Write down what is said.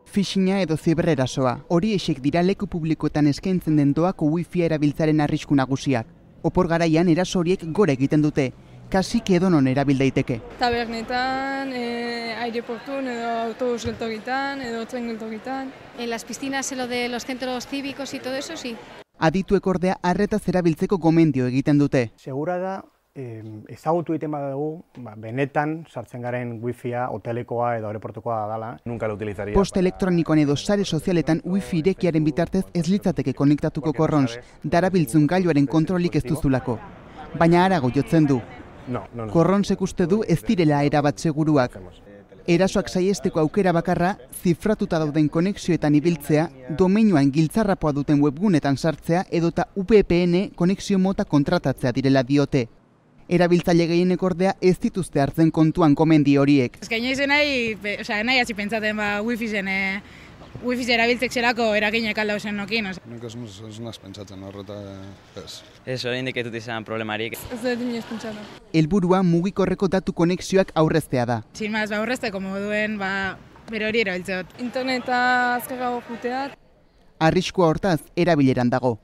Phishing-a edo zibererasoa. Horiexek dira leku publikoetan eskaintzen den doako wifi erabiltzaren arrisku nagusiak. Opor garaian eraso horiek gora egiten dute. Kasik edonon erabil daiteke. Tabernetan, aireportun edo autobus geltokitan edo tren geltokitan. En las piscinas, en lo de los centros cívicos y todo eso, sí. Adituek ordea arretaz erabiltzeko gomendio egiten dute. Segura da, ezagutu egiten badugu, benetan sartzen garen wifia hotelekoa edo aireportukoa dela. Nunca lo utilizaría. Post elektronikoan edo sare sozialetan wifi irekiaren bitartez ez litzateke konektatuko korrons, darabiltzun gailuaren kontrolik ez duzulako. Baina harago jotzen du. No. Korronsek uste du ez direla erabat seguruak. Erasoak saiesteko aukera bakarra, zifratuta dauden konexioetan ibiltzea, domeinuan giltzarrapoa duten webgunetan sartzea edota VPN konexio mota kontratatzea direla diote. Erabiltzaile gehienek ordea ez dituzte hartzen kontuan gomendi horiek. Ez gaina izan nahi hasi pentsaten wifi erabiltzek zelako eraginek alda zen nokin. Nik ez naz pentsatzen horreta ez. Ez oraindik ez dut izan problemarik. Ez dut inoiz pentsatu. Helburua mugikorreko datu konexioak aurreztea da. Sin más, aurrezteko moduen, bere hori erabiltzeot. Interneta azkarrago juteat. Arriskua hortaz erabileran dago.